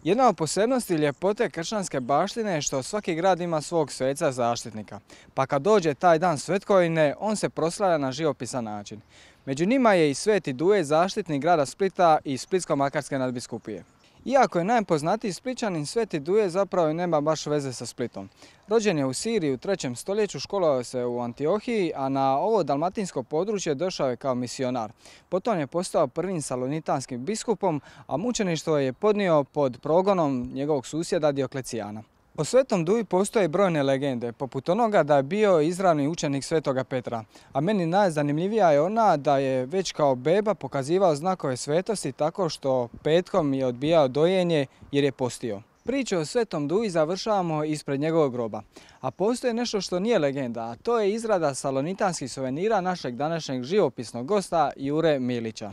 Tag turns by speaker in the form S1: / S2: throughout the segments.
S1: Jedna od posebnosti ljepote kršćanske baštine je što svaki grad ima svog sveca zaštitnika, pa kad dođe taj dan svetkovine, on se proslavlja na živopisan način. Među njima je i Sveti Duje, zaštitnik grada Splita i Splitsko-makarske nadbiskupije. Iako je najpoznatiji Splićanin, Sveti Duje zapravo nema baš veze sa Splitom. Rođen je u Siriji u 3. stoljeću, školovao se u Antiohiji, a na ovo dalmatinsko područje došao je kao misionar. Potom je postao prvim salonitanskim biskupom, a mučeništvo je podnio pod progonom njegovog susjeda Dioklecijana. O Svetom Duji postoje brojne legende, poput onoga da je bio izravni učenik Svetoga Petra, a meni najzanimljivija je ona da je već kao beba pokazivao znakove svetosti tako što petkom je odbijao dojenje jer je postio. Priču o Svetom Duji završavamo ispred njegovog groba, a postoji nešto što nije legenda, a to je izrada salonitanskih suvenira našeg današnjeg živopisnog gosta Jure Milića.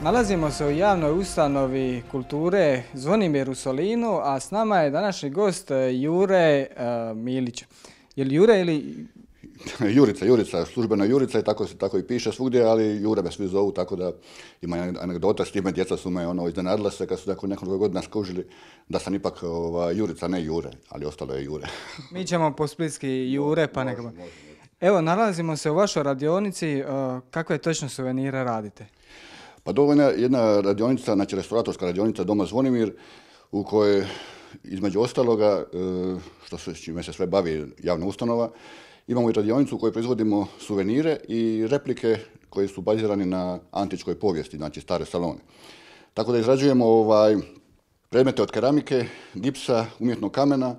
S1: Nalazimo se u javnoj ustanovi kulture Zvonimir u Solinu, a s nama je današnji gost Jure Milić. Je li Jure ili...
S2: Jurica, službena Jurica i tako i piše svugdje, ali Jure me svi zovu, tako da ima anegdota s time, djeca su me iznenadila se kad su nakon nekoliko godina skužili da sam ipak Jurica, ne Jure, ali ostalo je Jure.
S1: Mi ćemo po splitski Jure, pa nekako. Evo, nalazimo se u vašoj radionici, kakve točno suvenire radite?
S2: Pa dovoljna je jedna radionica, znači restauratorska radionica Doma Zvonimir, u kojoj između ostaloga, s čime se sve bavi javna ustanova, imamo i radionicu u kojoj proizvodimo suvenire i replike koji su bazirani na antičkoj povijesti, znači stare salone. Tako da izrađujemo predmete od keramike, gipsa, umjetnog kamena,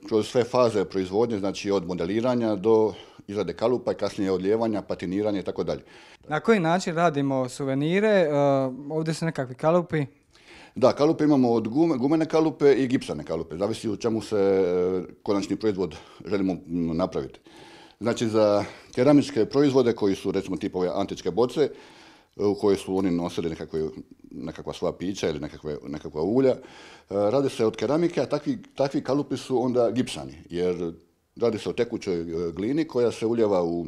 S2: kroz sve faze proizvodnje, znači od modeliranja do izrade kalupa i kasnije odlijevanja, patiniranja i tako dalje.
S1: Na koji način radimo suvenire? Ovdje su nekakvi kalupi.
S2: Da, kalupe imamo od gumene kalupe i gipsane kalupe, zavisi u čemu se konačni proizvod želimo napraviti. Znači za keramičke proizvode koji su recimo tipove antičke boce, u kojoj su oni nosili nekakva svoja pića ili nekakva ulja, radi se od keramike, a takvi kalupi su onda gipsani, jer radi se o tekućoj glini koja se uljeva u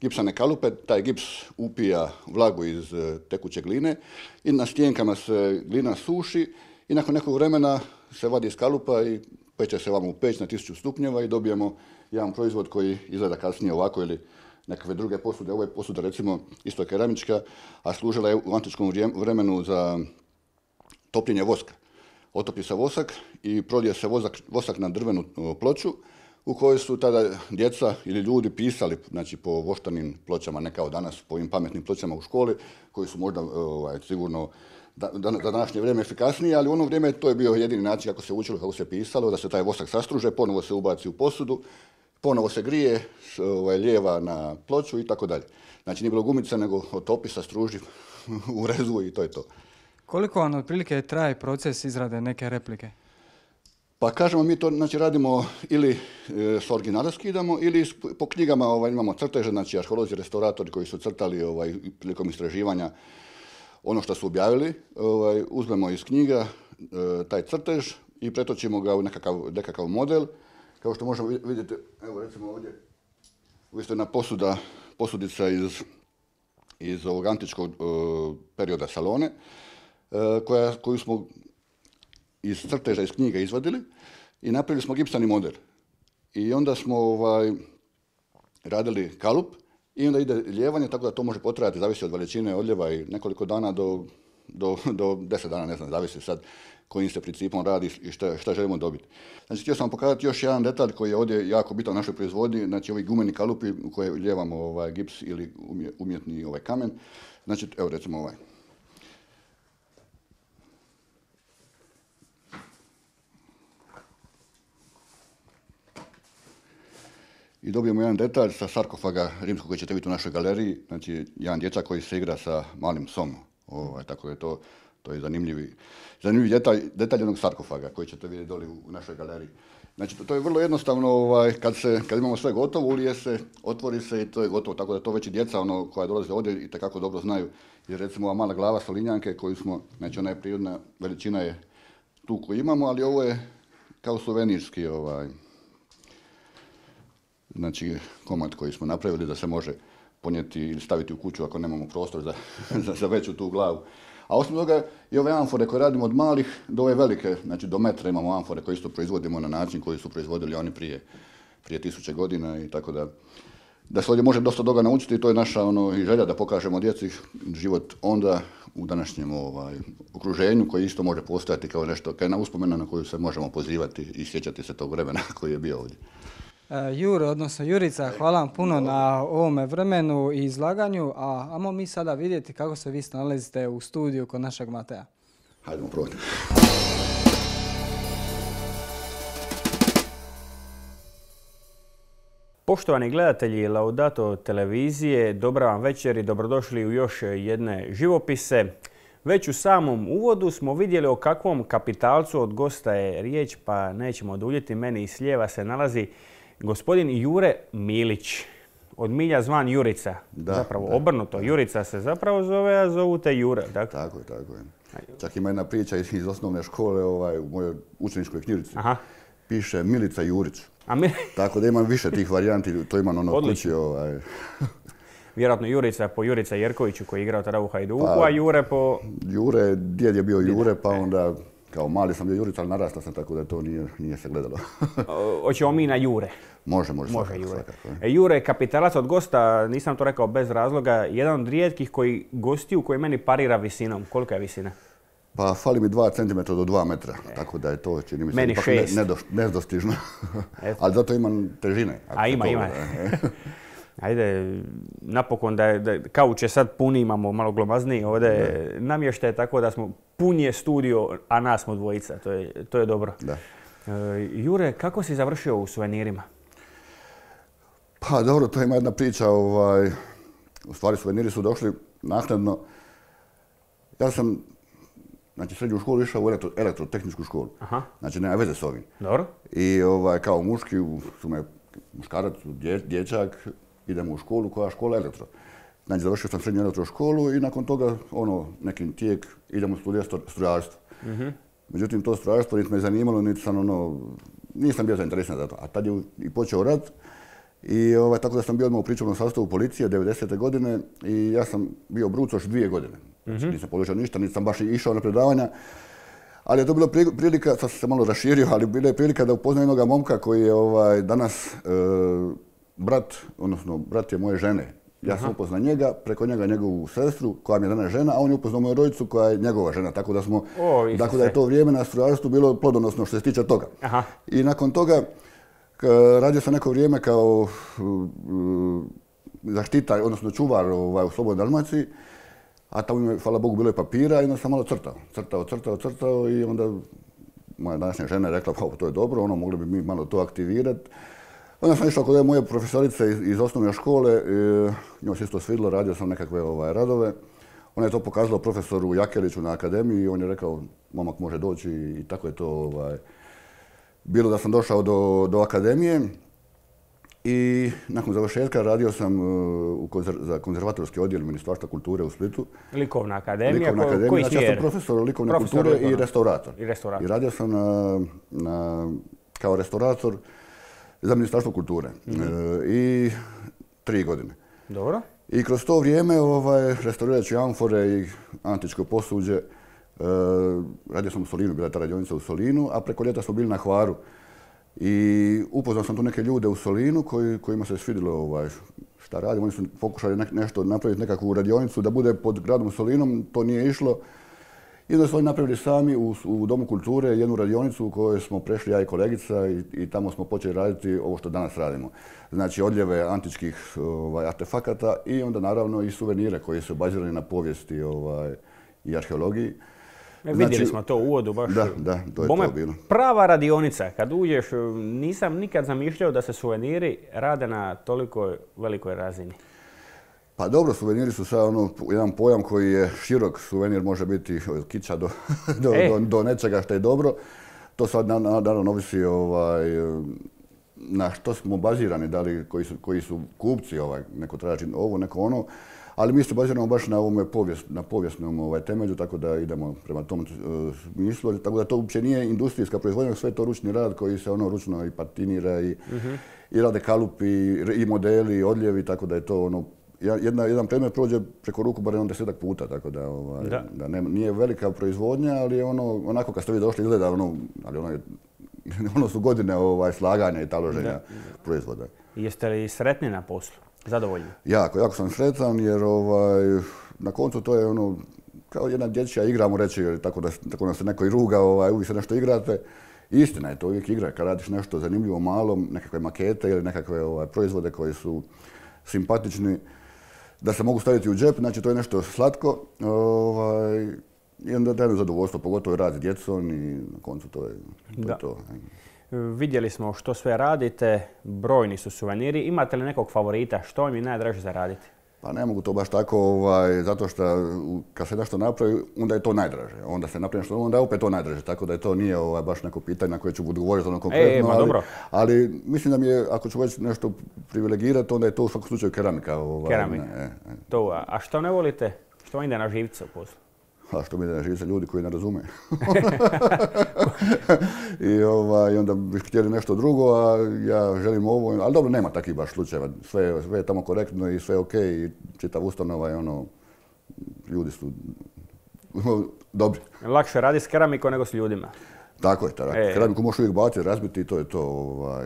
S2: gipsane kalupe, taj gips upija vlagu iz tekuće gline i na stjenkama se glina suši i nakon nekog vremena se vadi iz kalupa i peče se vam u peć na 1000 stupnjeva i dobijemo jedan proizvod koji izgleda kasnije ovako ili nekakve druge posude. Ovo je posuda recimo isto keramička, a služila je u antičkom vremenu za topljenje voska. Otopi se vosak i prolije se vosak na drvenu ploču u kojoj su tada djeca ili ljudi pisali, znači po voštanim pločama, ne kao danas, po ovim pametnim pločama u školi, koji su možda sigurno za današnje vrijeme efikasnije, ali u ono vrijeme to je bio jedini način kako se učilo, kako se pisalo, da se taj vosak sastruže, ponovo se ubaci u posudu, ponovo se grije, lijeva na ploču i tako dalje. Znači nije bilo gumice, nego otopi, sastruži, urezu i to je to.
S1: Koliko vam otprilike traje proces izrade neke replike?
S2: Pa kažemo, mi to znači radimo ili s originala skidamo ili po knjigama imamo crteže, znači arheolozi, restauratori koji su crtali prilikom istraživanja ono što su objavili, uzmemo iz knjiga taj crtež i pretočimo ga u nekakav model. Kao što možemo vidjeti, evo recimo ovdje, isto jedna posudica iz ovog antičkog perioda Salone, koju smo iz crteža, iz knjiga izvadili i napravili smo gipsani model. I onda smo radili kalup i onda ide lijevanje, tako da to može potrajati, zavisi od veličine odljeva i nekoliko dana do 10 dana, ne znam, zavisi sad kojim se principom radi i šta želimo dobiti. Znači, htio sam vam pokazati još jedan detalj koji je ovdje jako bitan u našoj proizvodnji, znači ovi gumeni kalupi u koje lijevamo gips ili umjetni kamen. Znači, evo recimo ovaj. I dobijemo jedan detalj sa sarkofaga rimskog koji ćete vidjeti u našoj galeriji, znači jedan dječak koji se igra sa malim psom. Tako je to je zanimljivi detalj jednog sarkofaga koji ćete vidjeti doli u našoj galeriji. Znači, to je vrlo jednostavno, kad imamo sve gotovo, ulije se, otvori se i to je gotovo. Tako da to već i djeca koja dolaze ovdje i tekako dobro znaju. Jer recimo ova mala glava solinjanke koju smo, znači ona je prirodna veličina je tu koju imamo, ali ovo je kao suvenirski znači komad koji smo napravili da se može ponijeti ili staviti u kuću ako nemamo prostor za veću tu glavu. A osim toga i ove amfore koje radimo od malih do ove velike, znači do metra imamo amfore koje isto proizvodimo na način koji su proizvodili oni prije 1000 godina i tako da se ovdje može dosta toga naučiti i to je naša i želja da pokažemo djeci život onda u današnjem okruženju koji isto može postojati kao nešto, kao jedna uspomena na koju se možemo pozivati i sjećati se tog vremena koji je bio ovdje.
S1: Jure, odnosno Jurica, hvala vam puno na ovome vremenu i izlaganju, a ajmo mi sada vidjeti kako se vi snalazite u studiju kod našeg Mateja.
S2: Hajdemo probati.
S3: Poštovani gledatelji Laudato televizije, dobra vam večer i dobrodošli u još jedne živopise. Već u samom uvodu smo vidjeli o kakvom kapitalcu od gosta je riječ, pa nećemo duljiti. Meni s lijeva se nalazi gospodin Jure Milić, od milja zvan Jurica. Zapravo obrnuto, Jurica se zapravo zove, a zovu te Jure.
S2: Tako je. Čak ima jedna priča iz osnovne škole u mojoj učeničkoj knjižici. Piše Milica Jurić. Tako da imam više tih varijanti, to imam kući.
S3: Vjerojatno Jurica po Jurica Jerkoviću koji je igrao tada u Hajduku, a Jure po...
S2: Jure, djed je bio Jure, pa onda kao mali sam bio Jurica, ali narastao sam tako da to nije se gledalo.
S3: Hoćemo mi na Jure.
S2: Može Jure.
S3: Svakako. Jure je kapitalac od gosta, nisam to rekao bez razloga, jedan od rijetkih gostiju koji meni parira visinom. Kolika je visina?
S2: Pa fali mi 2 cm do 2 metra, tako da je to, čini mi se,
S3: ipak
S2: nedostižno. Ali zato imam težine.
S3: A ima. Ajde, napokon da kauč je sad puni, imamo malo glomazniji ovdje namještaje, tako da smo punije studio, a nas smo dvojica, to je dobro.
S2: Da.
S3: Jure, kako si završio u suvenirima?
S2: Pa dobro, to ima jedna priča, u stvari suveniri su došli naknadno. Ja sam srednju školu išao u elektrotehničku školu. Znači nema veze s ovim.
S3: Dobro.
S2: I kao muški su me muškarac, dječak, idemo u školu koja je škola elektro. Znači završio sam srednju elektroškolu i nakon toga nekim tijek idemo studirati strojarstvo. Međutim to strojarstvo niti me zanimalo, niti sam nisam bio zainteresiran za to. A tad je i počeo rat i tako da sam bio odmah u pričuvnom sastavu policije 90. godine i ja sam bio brucoš 2 godine. Znači nisam položio ništa, niti sam baš išao na predavanja. Ali je to bila prilika, sad sam se malo raširio, ali bila je prilika da upoznam jednog momka koji je danas brat je moje žene. Ja sam upoznao njega, preko njega njegovu sestru koja mi je danas žena, a on je upoznao moju rođicu koja je njegova žena. Tako da da je to vrijeme na strojarstvu bilo plodonosno što se tiče toga. I nakon toga radio sam neko vrijeme kao zaštitar, odnosno čuvar u Slobodnoj Dalmaciji, a tamo mi, hvala Bogu, bilo je papira i onda sam malo crtao i onda moja današnja žena je rekla, pa to je dobro, mogli bi mi malo to aktivirati. Onda sam išao kod moje profesorice iz osnovne škole, njoj se isto svidilo, radio sam nekakve radove. Ona je to pokazala profesoru Jakeliću na akademiji i on je rekao, momak može doći i tako je to bilo da sam došao do akademije. I nakon završetka radio sam za konzervatorski odjel Ministarstva kulture u Splitu.
S3: Likovna akademija,
S2: koji smjer? Ja sam profesor likovne kulture i restaurator. I radio sam kao restaurator za Ministarstvo kulture. I 3 godine.
S3: Dobro.
S2: I kroz to vrijeme restaurirajući amfore i antičko posuđe, radio sam u Solinu, bila je ta radionica u Solinu, a preko ljeta smo bili na Hvaru. I upoznao sam tu neke ljude u Solinu kojima se svidjelo šta radim. Oni su pokušali nešto napraviti, nekakvu radionicu da bude pod gradom Solinom, to nije išlo. I onda su oni napravili sami u Domu kulture jednu radionicu u kojoj smo prešli ja i kolegica i tamo smo počeli raditi ovo što danas radimo. Znači odljeve antičkih artefakata i onda naravno i suvenire koji su bazirani na povijesti i arheologiji.
S3: Vidjeli smo to u uvodu baš.
S2: Da, to je to bilo.
S3: Prava radionica. Kad uđeš, nisam nikad zamišljao da se suveniri rade na toliko velikoj razini.
S2: Pa dobro, suveniri su sad jedan pojam koji je širok. Suvenir može biti od kića do nečega što je dobro. To sad naravno ovisi na što smo bazirani, da li koji su kupci, neko traži ovo, neko ono, ali mi se baziramo baš na ovome na povijesnom temelju, tako da idemo prema tom smislu, tako da to uopće nije industrijska proizvodnja, sve je to ručni rad koji se ručno i patinira i rade kalupi i modeli i odljevi, tako da je to jedan predmet prođe preko ruku barem 10 puta, tako da nije velika proizvodnja, ali je onako kad ste vi došli izgleda ali ono su godine slaganja i taloženja proizvoda.
S3: Jeste li sretni na poslu? Zadovoljni?
S2: Jako sam sretan jer na koncu to je kao jedna dječja igra, mu reći, tako da se neko i ruga, uvijek se nešto igrate. Istina je to uvijek igra, kad radiš nešto zanimljivo malo, nekakve makete ili nekakve proizvode koji su simpatični, da se mogu staviti u džep, znači to je nešto slatko. I onda daje zadovoljstvo, pogotovo rad s djecom i na koncu to je to.
S3: Vidjeli smo što sve radite, brojni su suveniri. Imate li nekog favorita? Što vam je najdraže za raditi?
S2: Pa ne mogu to baš tako, zato što kad se nešto napravi, onda je to najdraže. Onda se napravi nešto, onda je opet to najdraže. Tako da to nije baš neko pitanje na koje ću odgovoriti konkretno. Ali mislim da mi je, ako ću već nešto privilegirati, onda je to u svakom slučaju keramika.
S3: Keramika. A što ne volite? Što vam ide na živce u poslu?
S2: A što mi ide na živce? Ljudi koji ne razume. I onda bih htjeli nešto drugo, a ja želim ovo. Ali dobro, nema takvih baš slučajeva. Sve je tamo korektno i sve je okej. I čitav ustanova ljudi su dobri.
S3: Lakše radi s keramikom nego s ljudima.
S2: Tako je. Keramiku možeš uvijek baciti, razbiti i to je to.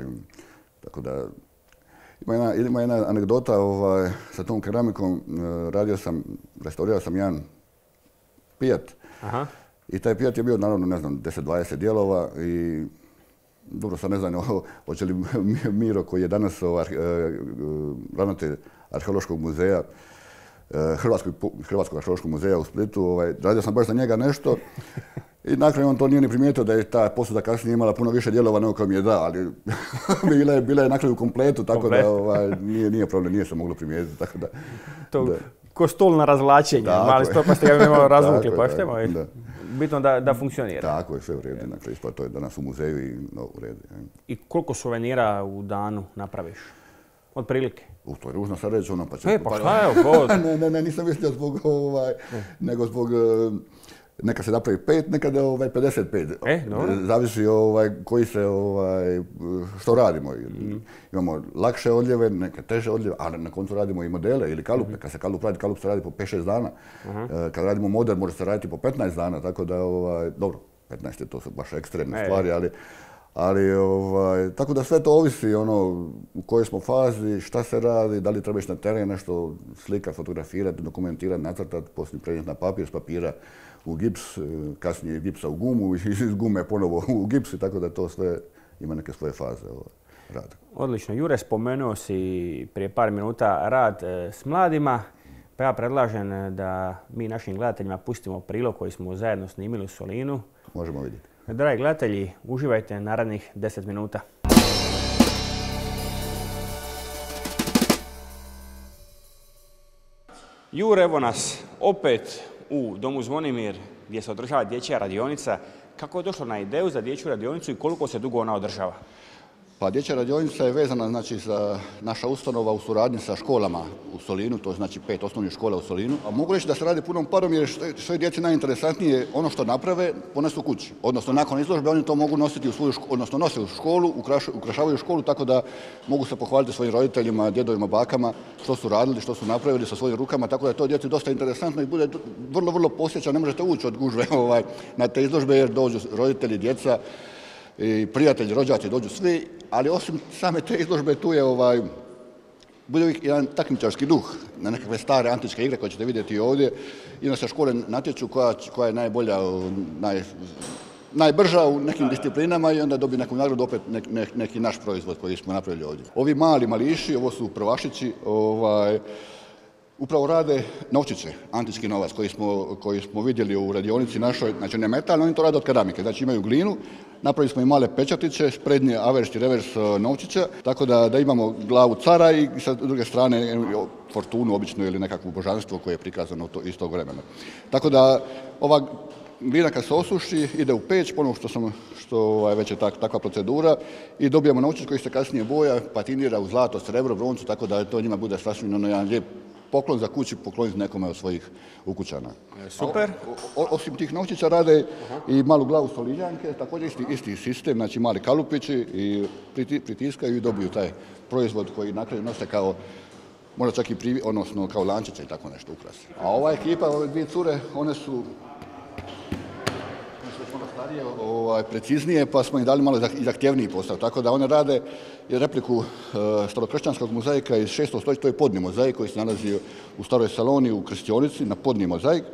S2: Tako da... Ima jedna anegdota sa tom keramikom. Restaurirao sam jedan Fiat. I taj Fiat je bio, naravno, ne znam, 10-20 dijelova i dobro, sad ne znam hoće li Miro, koji je danas ravnatelj arheološkog muzeja, Hrvatskog arheološkog muzeja u Splitu, radio sam baš za njega nešto i na kraju on to nije ni primijetio da je ta posuda kasnije imala puno više dijelova nego koja mi je da, ali bila je na kraju u kompletu, tako da nije problem, nije se moglo primijetiti, tako da...
S3: Ko stol na razvlačenje, mali stol pa ste ga imali razvukli, pa štemo. Bitno da funkcionira.
S2: Tako je, sve u redu, dakle, to je danas u muzeju i u redu.
S3: I koliko suvenira u danu napraviš? Od prilike?
S2: To je ružno sad reći, pa će...
S3: Pa šta je?
S2: Ne, nisam mislio zbog nego zbog... Nekad se napravi 5, nekad 55. Zavisi koji se, što radimo. Imamo lakše odljeve, neke teže odljeve, ali na koncu radimo i modele ili kalupe. Kad se kalup se radi po 5-6 dana. Kad radimo model, može se raditi po 15 dana, tako da, dobro, 15 je to su baš ekstremne stvari, ali tako da sve to ovisi u kojoj smo fazi, šta se radi, da li treba ići na teren, nešto slika, fotografirati, dokumentirati, nacrtati, poslije prenijeti na papir, s papira u gips, kasnije gipsa u gumu, iz gume ponovo u gips, tako da to sve ima neke svoje faze rada.
S3: Odlično. Jure, spomenuo si prije par minuta rad s mladima, pa ja predlažem da mi našim gledateljima pustimo prilog koji smo zajedno snimili u Solinu.
S2: Možemo vidjeti.
S3: Dragi gledatelji, uživajte narednih 10 minuta. Jure, evo nas opet u Domu Zvonimir gdje se održava dječja radionica. Kako je došlo na ideju za dječju radionicu i koliko se dugo ona održava?
S2: Pa dječja radionica je vezana za naša ustanova u suradnji sa školama u Solinu, to znači 5 osnovnih škola u Solinu. A mogu reći da se radi punom parom jer što je djeci najinteresantnije ono što naprave ponesu kući. Odnosno nakon izložbe oni to mogu nositi odnosno nose u školu, ukrašavaju školu tako da mogu se pohvaliti svojim roditeljima, djedovima, bakama što su radili, što su napravili sa svojim rukama, tako da je to djeci dosta interesantno i bude vrlo, vrlo posjećan. Ne možete ući od gužve na te izložbe jer dođu roditelji, djeca, i prijatelji, rođaci, dođu svi, ali osim same te izložbe tu je bude uvijek jedan takmičarski duh na nekakve stare antičke igre koje ćete vidjeti ovdje. I onda se škole natječu koja je najbolja, najbrža u nekim disciplinama i onda dobije neku nagradu opet neki naš proizvod koji smo napravili ovdje. Ovi mali mališi, ovo su prvašići, upravo rade novčiće, antički novac koji smo vidjeli u radionici našoj, znači ne metalno, oni to rade od keramike, znači imaju glinu, napravili smo i male pečatiće, sprednje avers i revers novčića, tako da imamo glavu cara i sa druge strane fortunu obično ili nekakvo božanstvo koje je prikazano iz tog vremena. Tako da ova glina kad se osuši ide u peć, ponovno što već je takva procedura i dobijemo novčić koji se kasnije boja, patinira u zlato, srebro, broncu, tako da to njima bude sasvim jedan lijep poklon za kući, pokloniti nekome od svojih ukućana.
S3: Super.
S2: Osim tih novčića rade i malu glavu soliljanke, također isti sistem, znači mali kalupići i pritiskaju i dobiju taj proizvod koji na kraju nose kao možda čak i odnosno kao lančiće i tako nešto ukrasi. A ova ekipa, ove dvije cure, one su starije, preciznije, pa smo im dali malo zahtjevniji posao. Tako da one rade repliku starokršćanskog mozaika iz 6. stoljeća, to je podni mozaik koji se nalazi u Staroj Saloni u Krstionici, na podni mozaik,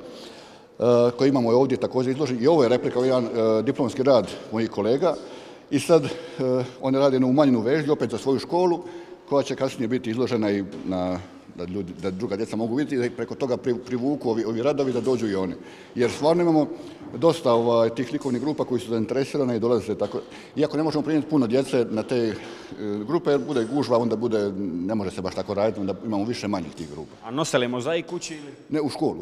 S2: koji imamo ovdje također izložen. I ovo je replika, jedan diplomski rad mojih kolega. I sad oni rade jednu umanjenu vežnju opet za svoju školu, koja će kasnije biti izložena i da druga djeca mogu vidjeti i da preko toga privuku ovi radovi da dođu i oni. Jer stvarno imamo dosta tih likovnih grupa koji su zainteresirane i dolaze tako. Iako ne možemo primiti puno djece na te grupe, jer bude gužva, onda ne može se baš tako raditi, onda imamo više manjih tih grupa.
S3: A nose li mozaik kući ili?
S2: Ne, u školu.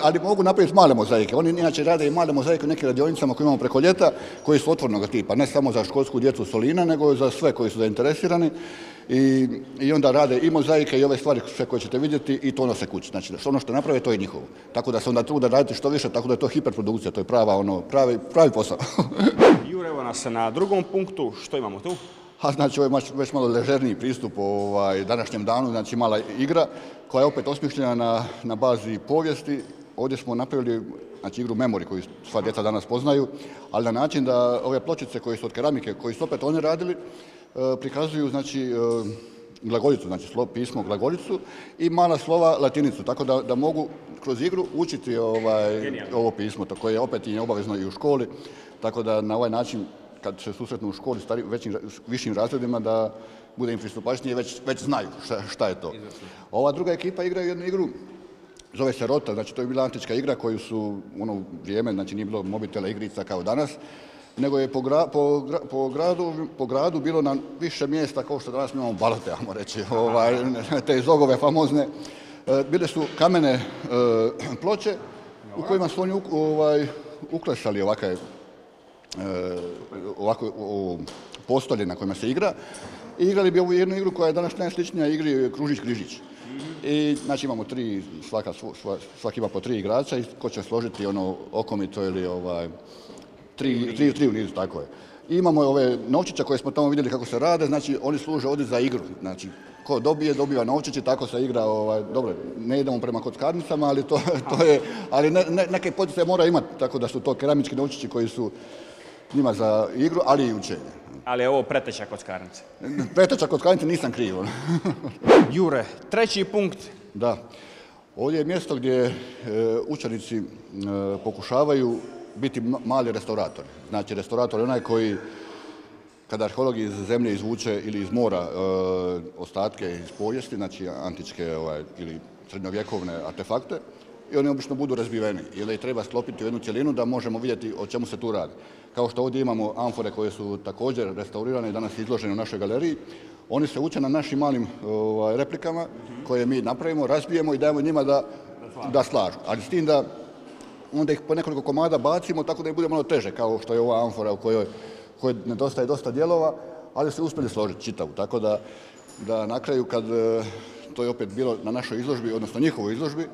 S2: Ali mogu napraviti male mozaike. Oni inače rade i male mozaike u nekim radionicama koje imamo preko ljeta, koji su otvornog tipa, ne samo za školsku djecu Solina, nego za sve koji su zainteresirani. I onda rade i mozaike i ove stvari sve koje ćete vidjeti i to nose kući. Znači, ono što naprave, to je njihovo. Tako da se onda trude raditi što više, tako da je to hiperprodukcija, to je pravi posao.
S3: Jure, evo nas na drugom punktu, što imamo tu?
S2: Znači, ovo je već malo ležerniji pristup današnjem danu, znači mala igra koja je opet osmišljena na bazi povijesti. Ovdje smo napravili igru Memory koju sva djeca danas poznaju, ali na način da ove pločice koje su od keramike, koji su opet oni radili, prikazuju glagoljicu, znači pismo glagoljicu i mala slova latinicu, tako da mogu kroz igru učiti ovo pismo, to koje je opet i obavezno i u školi, tako da na ovaj način kad se susretnu u školi višim razredima da bude im pristupačnije, već znaju šta je to. Ova druga ekipa igra jednu igru, zove se Rota, znači to je bila antička igra koju su u ono vrijeme, znači nije bilo mobitela igrica kao danas, nego je po gradu bilo na više mjesta kao što danas imamo balote, ajmo reći, te zogove famozne. Bile su kamene ploče u kojima su oni uklesali ovakve postolje na kojima se igra i igrali bi ovu jednu igru koja je danas najsličnija igri Kružić-Križić. I znači imamo svaki ima po 3 igrača i ko će složiti okomito ili tri u nizu, tako je. I imamo ove novčića koje smo tamo vidjeli kako se rade, znači oni služe ovdje za igru. Znači, ko dobiva novčić i tako se igra, dobro, ne idemo prema kockarnicama, ali to je, ali neke poticaje mora imati, tako da su to keramički novčići koji su njima za igru, ali i učenje.
S3: Ali je ovo preteča kockarnice.
S2: Preteča kockarnice nisam kriv.
S3: Jure, treći punkt.
S2: Da, ovdje je mjesto gdje učenici pokušavaju biti mali restauratori. Znači, restaurator je onaj koji, kada arheolog iz zemlje izvuče ili iz mora ostatke iz povijesti, znači antičke ili srednjovjekovne artefakte, i oni obično budu razbiveni. Ili ih treba sklopiti u jednu cjelinu da možemo vidjeti o čemu se tu radi. Kao što ovdje imamo amfore koje su također restaurirane i danas izložene u našoj galeriji, oni se uče na našim malim replikama koje mi napravimo, razbijemo i dajemo njima da slažu. Ali s tim da onda ih po nekoliko komada bacimo tako da im bude malo teže, kao što je ova amfora u kojoj nedostaje dosta dijelova, ali se uspjeli složiti čitavu. Tako da na kraju kad to je opet bilo na našoj izložbi, odnosno njihovoj izložbi,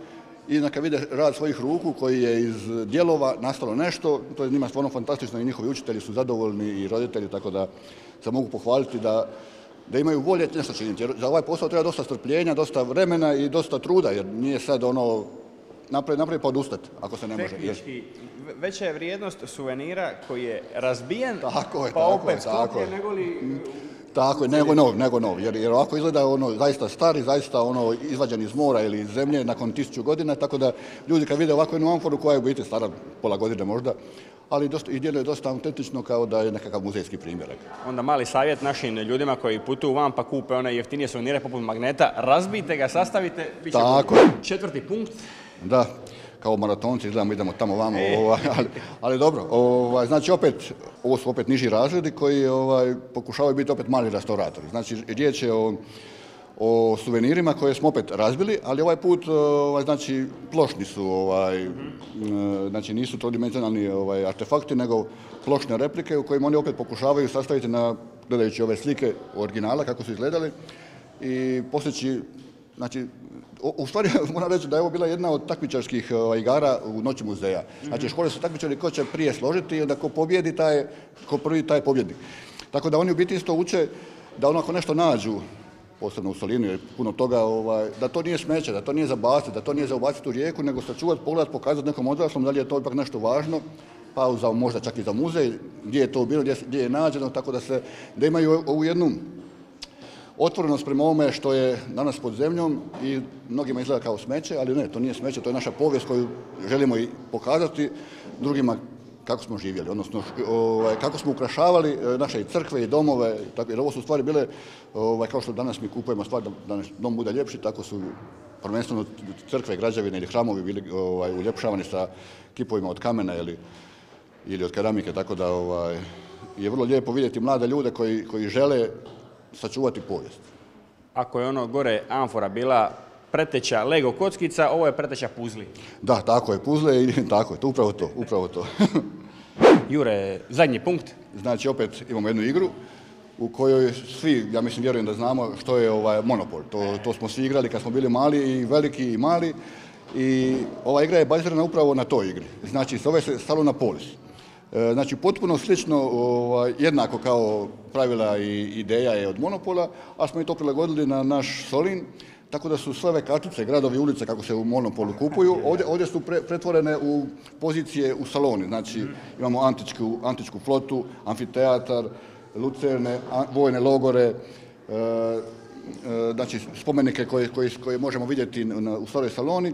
S2: i kad vide rad svojih ruku koji je iz dijelova nastalo nešto, to je njima stvarno fantastično i njihovi učitelji su zadovoljni i roditelji, tako da se mogu pohvaliti da imaju volje nešto činiti. Jer za ovaj posao treba dosta strpljenja, dosta vremena i dosta truda, jer nije sad napravi pa odustati, ako se ne može.
S3: Tehnički, veća je vrijednost suvenira koji je razbijen,
S2: pa
S3: opet sklopljen, nego li...
S2: Tako je, nego nov, jer ovako izgleda zaista stari, zaista izvađen iz mora ili iz zemlje nakon 1000 godina, tako da ljudi kad vide ovako jednu amforu koja je u biti stara pola godine možda, ali i djeluje dosta autentično kao da je nekakav muzejski primjerak.
S3: Onda mali savjet našim ljudima koji putuju van pa kupe one jeftinije suvenire poput magneta, razbijte ga, sastavite, bit će četvrti punkt.
S2: Da, kao maratonci izgledamo, idemo tamo vamo, ali dobro, znači ovo su opet niži razredi koji pokušavaju biti opet mali restauratori. Znači riječ je o suvenirima koje smo opet razbili, ali ovaj put znači plošni su, znači nisu trodimenzionalni artefakti, nego plošne replike u kojima oni opet pokušavaju sastaviti gledajući ove slike originala kako su izgledali i postići, znači u stvari moram reći da je ovo bila jedna od takmičarskih igara u Noći muzeja. Znači škole su takmičari ko će prije složiti i onda ko pobjedi, ko prvi taj pobjednik. Tako da oni u biti isto uče da ako nešto nađu, posebno u Solinu je puno toga, da to nije smeće, da to nije za baciti, da to nije za ubaciti u rijeku, nego sačuvati, pogledati, pokazati nekom odraslom da li je to ipak nešto važno, pa možda čak i za muzej, gdje je to bilo, gdje je nađeno, tako da imaju ovu jednu otvorenost prema ovome što je danas pod zemljom i mnogima izgleda kao smeće, ali ne, to nije smeće, to je naša povijest koju želimo i pokazati drugima kako smo živjeli, odnosno kako smo ukrašavali naše i crkve i domove, jer ovo su stvari bile, kao što danas mi kupujemo stvar da dom bude ljepši, tako su prvenstveno crkve, građevine ili hramovi bili uljepšavani sa kipovima od kamena ili od keramike, tako da je vrlo lijepo vidjeti mlade ljude koji žele sačuvati povijest.
S3: Ako je ono gore amfora bila preteča Lego kockica, ovo je preteča puzli.
S2: Da, tako je, puzle i tako je, upravo to.
S3: Jure, zadnji punkt.
S2: Znači, opet imamo jednu igru u kojoj svi, ja mislim, vjerujem da znamo što je Monopol. To smo svi igrali kad smo bili mali i veliki i mali i ova igra je bazirana upravo na toj igri. Znači, zove se Salona Polis. Znači, potpuno slično, jednako kao pravila i ideja je od Monopola, a smo i to prilagodili na naš Solin, tako da su sve ove kartice, gradovi i ulice kako se u Monopolu kupuju, ovdje su pretvorene u pozicije u saloni. Znači, imamo antičku flotu, amfiteatar, lucerne, vojne logore, znači spomenike koje možemo vidjeti u staroj saloni,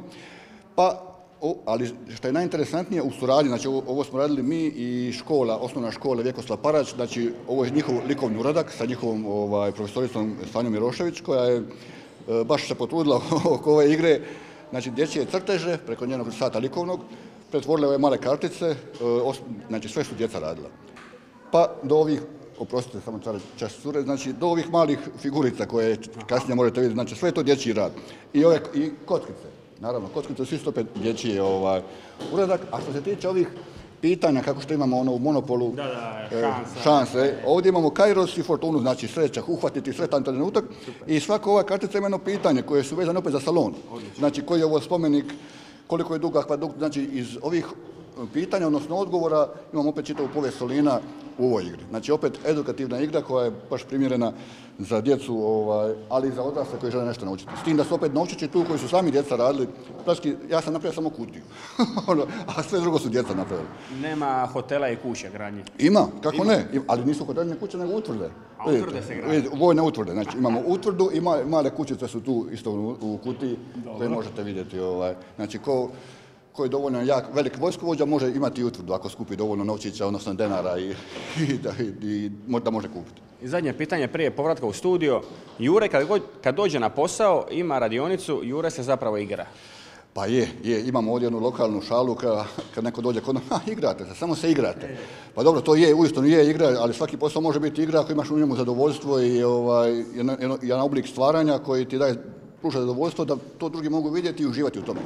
S2: ali što je najinteresantnije u suradnji, znači ovo smo radili mi i osnovna škola Vjekoslav Parać, znači ovo je njihov likovni uradak sa njihovom profesoricom Sanjom Mirošević koja je baš se potrudila oko ove igre, znači dječje crteže preko njenog sata likovnog, pretvorile ove male kartice, znači sve su djeca radila. Pa do ovih, oprostite samo čas cure, znači do ovih malih figurica koje kasnije možete vidjeti, znači sve je to dječji rad. I kockice. Naravno, kockice su isto opet dječji uradak, a što se tiče ovih pitanja, kako što imamo u Monopolu, šanse, ovdje imamo Kairos i Fortunu, znači sreća, uhvatiti sretan trenutak i svaka ova kartica ima jedno pitanje koje su vezane opet za salon. Znači, koji je ovo spomenik, koliko je dug akvadukt, znači iz ovih pitanja, odnosno odgovora, imamo opet čitavu povijest Solina u ovoj igri. Znači, opet edukativna igra koja je baš primjerena za djecu, ali i za odrasle koji žele nešto naučiti. S tim da su opet novčići tu koji su sami djeca radili. Praski, ja sam napravio samo kutiju, a sve drugo su djeca napravili.
S3: Nema hotela i kuća gradnje?
S2: Ima, kako ne, ali nisu hoteli kuće nego utvrde.
S3: A utvrde se grade?
S2: Vojne utvrde, znači imamo utvrdu i male kućice su tu isto u kutiji koje možete vidjeti. Znači, koji je dovoljno jak, velik vojskovođa može imati i utvrdu ako skupi dovoljno novčića, odnosno denara i da može kupiti.
S3: I zadnje pitanje prije povratka u studio. Jure, kad dođe na posao, ima radionicu, Jure se zapravo igra.
S2: Pa imamo ovdje jednu lokalnu šalu kad neko dođe kod nas, igrate se, samo se igrate. Pa dobro, to uistinu je igra, ali svaki posao može biti igra ako imaš u njemu zadovoljstvo i jedan oblik stvaranja koji ti pruža zadovoljstvo da to drugi mogu vidjeti i uživati u tome.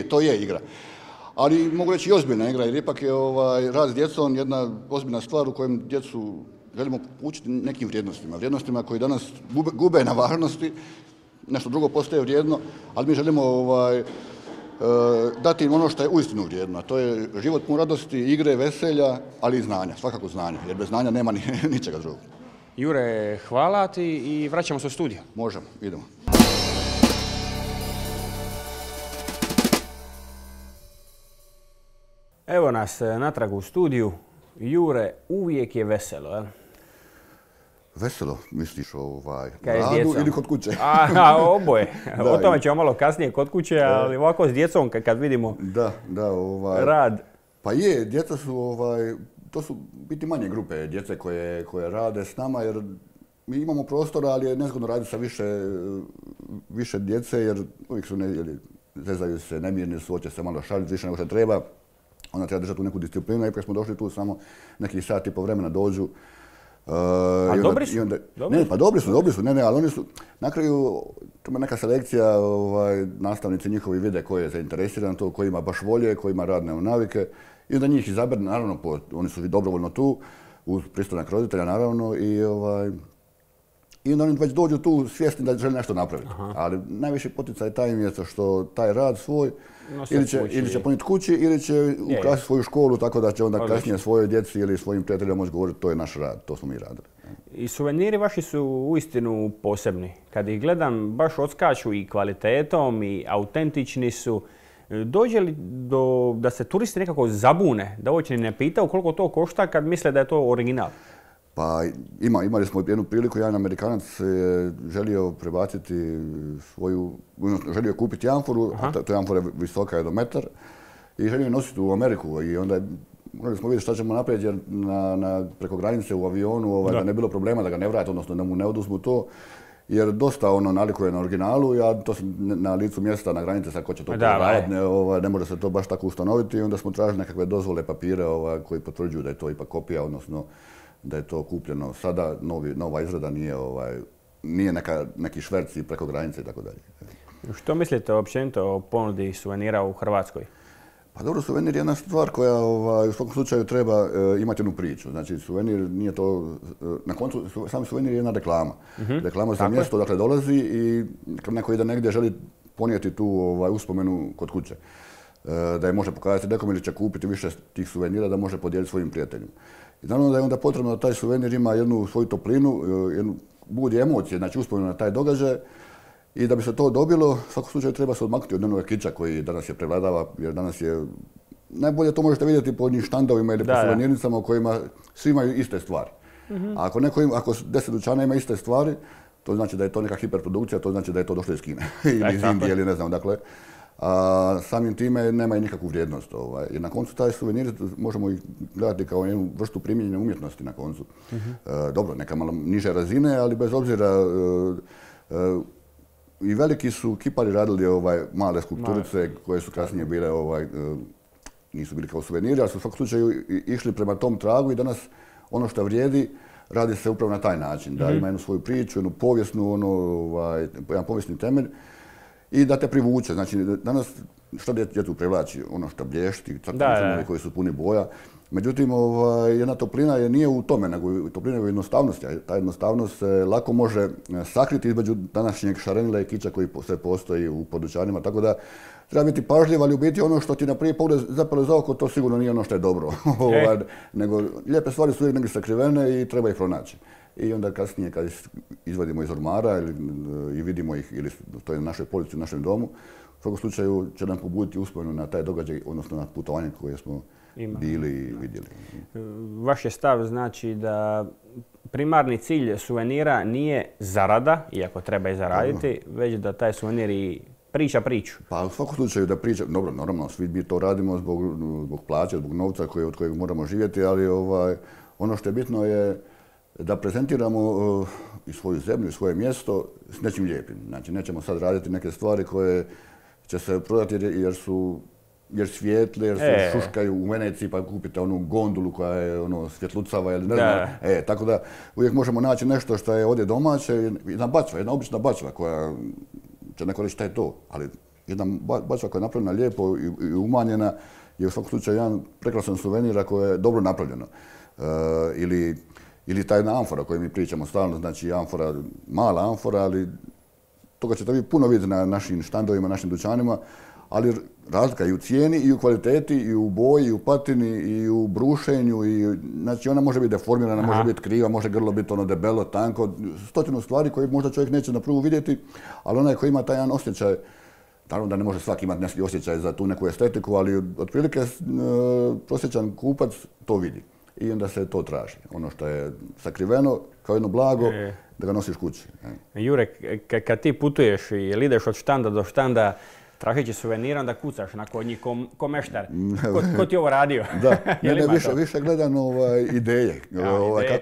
S2: To je igra. Ali mogu reći i ozbiljna igra, jer ipak je rad s djecom jedna ozbiljna stvar u kojem djecu želimo učiti nekim vrijednostima koji danas gube na važnosti, nešto drugo postaje vrijedno, ali mi želimo dati im ono što je uistinu vrijedno, a to je život pun radosti, igre, veselja, ali i znanja, svakako znanja, jer bez znanja nema ničega drugog.
S3: Jure, hvala ti i vraćamo se u studio.
S2: Možemo, idemo.
S3: Evo nas natrag u studiju. Jure, uvijek je veselo, jel?
S2: Veselo, misliš radu ili kod kuće?
S3: Oboje. O tome ćemo malo kasnije kod kuće, ali ovako s djecom kad vidimo rad.
S2: Pa djeca su, to su biti manje grupe djece koje rade s nama, jer mi imamo prostora, ali je nezgodno raditi sa više djece, jer uvijek su zezaju se, nemirni su, hoće se malo šaliti više nego što treba. Onda treba držati u neku disciplinu, ipak smo došli tu samo nekih sat i po vremena dođu,
S3: A dobri su?
S2: Ne, pa dobri su, ne, ali oni su, na kraju, to ima neka selekcija, nastavnici njihovi vide ko je zainteresiran to, ko ima baš volje, ko ima radne navike, i onda njih izabere, naravno, oni su dobrovoljno tu, uz pristanak roditelja, naravno, i onda oni već dođu tu svjesni da žele nešto napraviti. Ali najviše poticaj taj im je što taj rad svoj ili će ponijeti kući ili će ukrasiti svoju školu tako da će onda kasnije svojoj djeci ili svojim prijateljima moći govoriti to je naš rad, to smo mi radili.
S3: I suveniri vaši su uistinu posebni. Kad ih gledam baš odskaču i kvalitetom i autentični su. Dođe li da se turisti nekako zabune, da uopće ne pitaju koliko to košta kad misle da je to original?
S2: Pa imali smo jednu priliku, jedan Amerikanac je želio prebaciti želio kupiti amforu, a ta amfora visoka je do metar, i želio je nositi u Ameriku. I onda morali smo vidjeti šta ćemo napraviti jer preko granice u avionu da ne bilo problema da ga ne vrate, odnosno da mu ne oduzmu to. Jer dosta nalikuje na originalu, ja to sam na licu mjesta, na granici, sad ko će to raditi, ne može se to baš tako ustanoviti. I onda smo tražili nekakve dozvole, papire koji potvrđuju da je to ipak kopija, odnosno da je to kupljeno sada, nova izrada nije neki šverci preko granice i tako dalje.
S3: Što mislite općenito o ponudi suvenira u Hrvatskoj?
S2: Pa dobro, suvenir je jedna stvar koja u svakom slučaju treba imati jednu priču. Znači, suvenir nije to, na koncu, sam suvenir je jedna reklama. Reklama za mjesto odakle dolazi i kad neko ide negdje želi ponijeti tu uspomenu kod kuće. Da je može pokazati nekom ili će kupiti više tih suvenira da može podijeliti svojim prijateljima. I naravno da je onda potrebno da taj suvenir ima jednu svoju toplinu, budi emocije, znači uspomenu na taj događaj. I da bi se to dobilo, u svakom slučaju treba se odmaknuti od onoga kiča koji danas je prevladava, jer danas je, najbolje to možete vidjeti po njih štandovima ili po suvenirnicama u kojima svi imaju iste stvari. A ako 10 dućana ima iste stvari, to znači da je to neka hiperprodukcija, to znači da je to došlo iz Kine ili iz Indije ili ne znam, dakle. A samim time nema i nikakvu vrijednost. I na koncu taj suvenir možemo ih gledati kao jednu vrstu primijenjene umjetnosti na koncu. Dobro, neka malo niže razine, ali bez obzira i veliki su kipari radili male skulpturice koje su kasnije bile, nisu bili kao suveniri, ali su u svakom slučaju išli prema tom tragu i danas ono što vrijedi radi se upravo na taj način, da ima jednu svoju priču, jednu povijesnu, jedan povijesni temelj i da te privuče. Znači, danas što djecu privlači? Ono što blješti, crtani koji su puni boja. Međutim, jedna toplina nije u tome, nego toplina je u jednostavnosti. A ta jednostavnost se lako može sakriti između današnjeg šarenila i kiča koji sve postoji u podućanima. Tako da treba biti pažljiv, ali u biti ono što ti na prvi pogled zapale za oko, to sigurno nije ono što je dobro. Nego lijepe stvari su uvijek negdje sakrivene i treba ih pronaći. I onda kasnije kad izvadimo iz ormara i vidimo ih, ili to je na našoj polici, u našem domu, u svakom slučaju će nam pobuditi uspomenu na taj događaj, odnosno na putovanje koje smo bili i vidjeli.
S3: Vaš je stav znači da primarni cilj suvenira nije zarada, iako treba i zaraditi, već da taj suvenir i priča priču.
S2: Pa u svakom slučaju da priča, dobro, normalno, svi mi to radimo zbog plaće, zbog novca od kojeg moramo živjeti, ali ono što je bitno je da prezentiramo i svoju zemlju i svoje mjesto s nečim lijepim. Znači, nećemo sad raditi neke stvari koje će se prodati jer svijetle, jer se šuškaju u Veneciji pa kupite onu gondulu koja je svjetlucava ili ne znam. Tako da uvijek možemo naći nešto što je ovdje domaće, jedna obična bačva koja će neko reći šta je to, ali jedna bačva koja je napravljena lijepo i umanjena je u svakom slučaju jedan prekrasan suvenir koje je dobro napravljeno. Ili ta jedna amfora o kojoj mi pričamo stalno, znači amfora, mala amfora, ali toga ćete vi puno vidjeti na našim štandovima, našim dućanima, ali razlika i u cijeni, i u kvaliteti, i u boji, i u patini, i u brušenju, znači ona može biti deformirana, može biti kriva, može grlo biti debelo, tanko, stotinu stvari koje možda čovjek neće na prvu vidjeti, ali onaj koji ima taj jedan osjećaj, naravno da ne može svaki imati neki osjećaj za tu neku estetiku, ali otprilike prosječan kupac to vidi. I onda se to traži. Ono što je sakriveno kao jedno blago, da ga nosiš kući.
S3: Jure, kad ti putuješ ili ideš od štanda do štanda, tražeći suvenira, onda kucaš na kod njih ko meštar. Ko ti ovo radio?
S2: Da, više gledam ideje.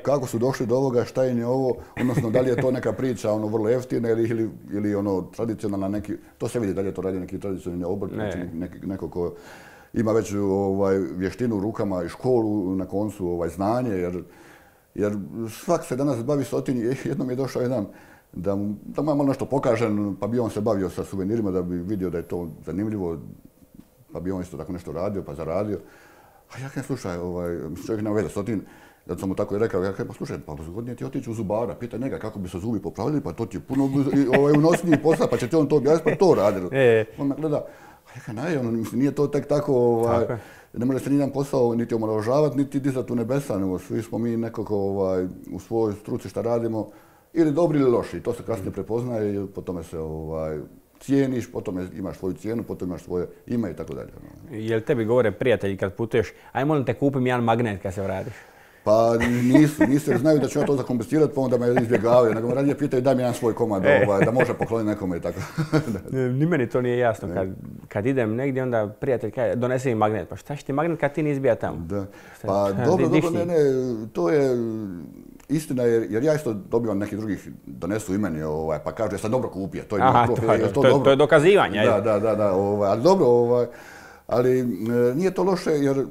S2: Kako su došli do ovoga, šta im je ovo, odnosno da li je to neka priča vrlo jeftina ili tradicionalna neki, to se vidi da li je to radio neki tradicionalni obrtnik, neko ko ima već vještinu u rukama i školu, na koncu znanje, Jer svak se danas bavi stotinje. Jednom je došao jedan da mu malo nešto pokažem, pa bi on se bavio sa suvenirima da bi vidio da je to zanimljivo, pa bi on isto tako nešto radio, pa zaradio. A ja kažem, slušaj, čovjek nema veze stotin, da sam mu tako i rekao, ja kažem, pa slušaj, pa zgodnije ti otići u zubara, pitaj njega kako bi se zubi popravili, pa to ti je puno unosniji posla, pa će ti on to objasniti, pa to radili. On me gleda, a ja kažem, nije to tek tako, ne može se nijedan posao niti omalovažavati, niti dizati u nebesa, nego svi smo mi nekako u svojoj struci šta radimo, ili dobri ili loši, to se kasnije prepoznaje i po tome se cijeniš, potom imaš svoju cijenu, potom imaš svoje ime i tako dalje.
S3: Jel tebi govore prijatelji kad putuješ, aj molim te kupim jedan magnet kad se vratiš?
S2: Pa nisu jer znaju da ću ja to zakompensirati, pa onda me izbjegavaju, nego me radije pitaju daj mi jedan svoj komad da može pokloniti nekome i tako.
S3: Ni meni to nije jasno. Kad idem negdje, onda prijatelj kaže donesi mi magnet. Pa šta će ti magnet kad ti ne izbija tamo?
S2: Da. Pa dobro, ne, to je istina jer ja isto dobivam nekih drugih donesu i meni, pa kažu ja sam dobro kupio.
S3: To je dokazivanje.
S2: Da, ali dobro, ali nije to loše jer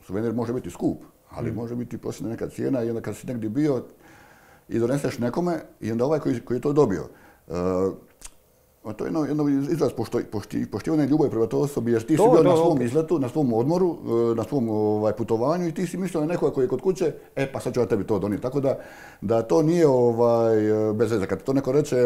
S2: suvenir može biti skup, ali može biti prosječna neka cijena i onda kad si negdje bio i doneseš nekome i onda ovaj koji je to dobio. To je jedno izraz poštivanja i ljubavi prema toj osobi jer ti si bio na svom izletu, na svom odmoru, na svom putovanju i ti si mislio na nekoga koji je kod kuće, pa sad ću ja tebi to donijeti. Tako da to nije bez veze. Kad to neko reče,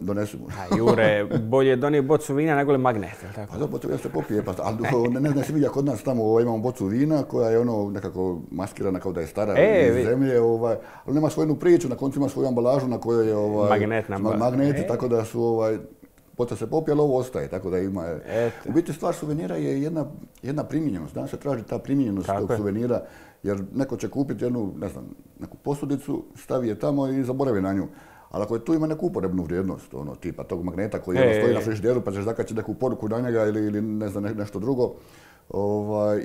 S2: donesi mu.
S3: Jure, bolje donijeti bocu vina nego li magnet.
S2: Pa da, bocu vina se popije, ali ne znam si vidio kod nas tamo imamo bocu vina koja je nekako maskirana kao da je stara iz zemlje, ali nema svoju priču, na koncu ima svoju ambalažu na kojoj je magneti, tako da su boca se popije, ali ovo ostaje, tako da ima. U biti stvar suvenira je jedna primjenjenost. Danas se traži ta primjenjenost tog suvenira, jer neko će kupiti neku posudicu, stavi je tamo i zaboravi na nju. Ali ako tu ima neku uporebnu vrijednost, tipa tog magneta koji stoji na frižideru pa ćeš zakačiti neku poruku na njega ili ne znam nešto drugo,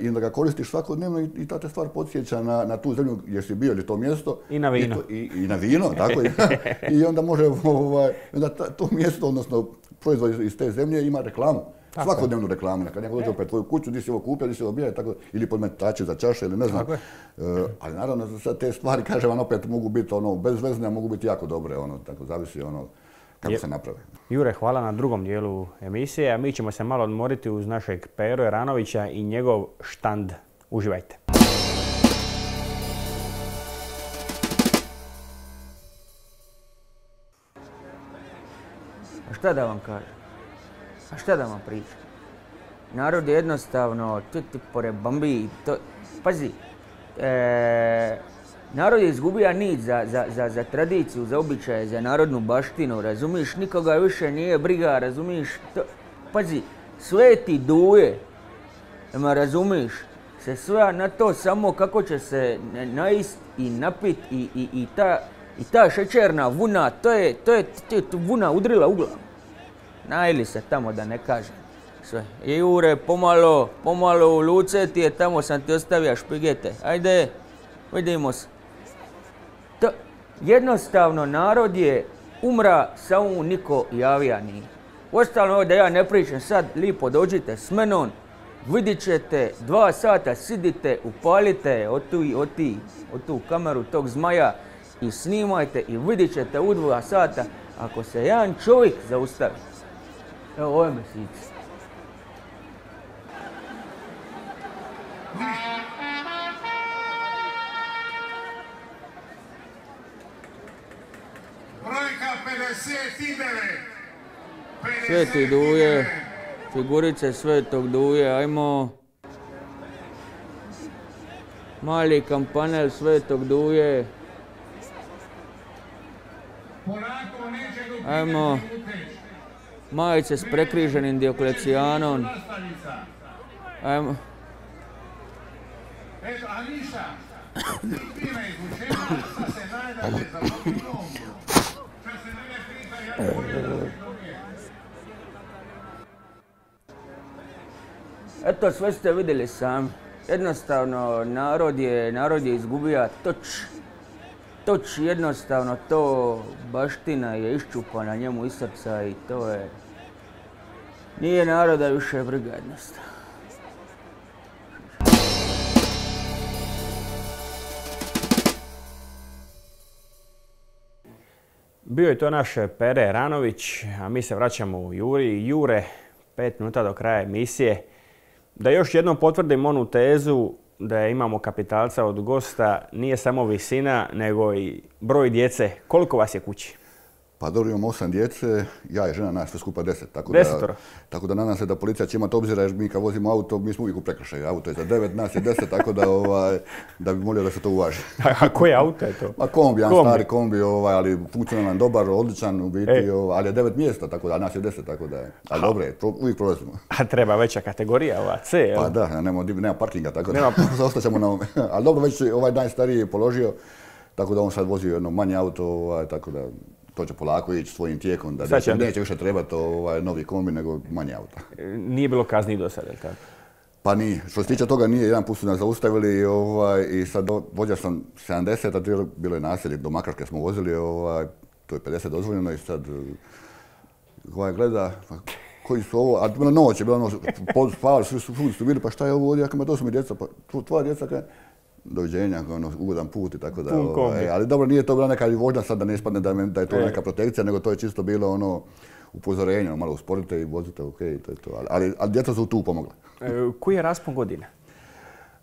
S2: i onda ga koristiš svakodnevno i ta te stvar podsjeća na tu zemlju gdje si bio ili to mjesto.
S3: I na vino.
S2: I na vino, tako je. I onda može, onda to mjesto, odnosno proizvod iz te zemlje ima reklamu. Svakodnevnu reklamu. Kad neko dođe opet tvoju kuću, di si ovo kupio, di si ovo bio, ili podmetači za čaše ili ne znam. Ali naravno za te stvari, kažem vam, opet mogu biti bezvezne, a mogu biti jako dobre. Tako zavisi kako se naprave.
S3: Jure, hvala na drugom dijelu emisije, a mi ćemo se malo odmoriti uz našeg Pero Eranovića i njegov štand. Uživajte.
S4: A šta da vam kažem? A šta da vam pričam? Narod je jednostavno, pored bambi, pazi, narod je izgubio nit za tradiciju, za običaje, za narodnu baštinu, razumiš? Nikoga više nije briga, razumiš? Pazi, Sveti Duje, razumiš? Se sve na to samo kako će se naist i napit i ta šećerna vuna, to je vuna udrila u glavu. Najeli se tamo da ne kažem sve. Jure, pomalo u luce ti je, tamo sam ti ostavio špigete. Ajde, vidimo se. Jednostavno, narod je umra, samo niko javija nije. Ostalo da ja ne pričam sad, lipo dođite s menom, vidit ćete, 2 sata sidite, upalite od tu kameru tog zmaja i snimajte i vidit ćete u 2 sata ako se jedan čovjek zaustavi. Evo, ovo je mesic.
S5: Brojka 59.
S4: Sveti Duje, figurice Svetog Duje, ajmo. Mali kampanel Svetog Duje. Ajmo. Majice s prekriženim Dioklecijanom. Ajmo.
S5: Eto, a ništa. Ima izvučenja, sad se najdaže za potinom. Šta se mene pita, ja ne
S4: Eto, sve ste vidjeli sami. Jednostavno, narod je izgubio toč, jednostavno to baština je iščupana njemu iz srca i to je... Nije naroda više briga jednostavno.
S3: Bio je to naš Pere Ranović, a mi se vraćamo u Jure, 5 minuta do kraja emisije. Da još jednom potvrdim onu tezu da imamo kapitalca od gosta, nije samo visina, nego i broj djece. Koliko vas je kući?
S2: Pa dobro, imamo 8 djece, ja i žena, nas sve skupa 10. Tako da nadam se da policija će imati obzira, jer mi kad vozimo auto, mi smo uvijek u prekršaju. Auto je za 9, nas je 10, tako da bi molio da se to uvaži.
S3: A koje auto je to?
S2: Ma kombi, jedan stari kombi, ali funkcionalan, dobar, odličan u biti, ali je 9 mjesta, tako da nas je 10, tako da je. Ali dobro je, uvijek prolazimo.
S3: A treba veća kategorija, ova C, jel?
S2: Pa da, nema parkinga, tako da ostaćemo na ovome. Ali dobro, već ovaj najstariji je položio, tako da on sad vozi jedno manje auto, tako da to će polako ići svojim tijekom, da neće više trebati novi kombi nego manje auta.
S3: Nije bilo kazni do sada, je li tako?
S2: Pa nije. Što se tiče toga nije, jedan put su nas zaustavili i sad vozio sam 70, a bilo je naselje, do Makarske smo vozili, to je 50 dozvoljeno i sad gleda, koji su ovo, a bila noć, spavali, svi su bili, pa šta je ovo ovdje, ja to su mi djeca, pa tvoja djeca, doviđenja, ugodan put i tako da. Ali dobro, nije to bila neka vožnja sad da ne ispadne da je to neka protekcija, nego to je čisto bilo upozorenje, malo usporite i vozite, okej, to je to. Ali djeca su tu pomogla.
S3: Koji je raspon godine?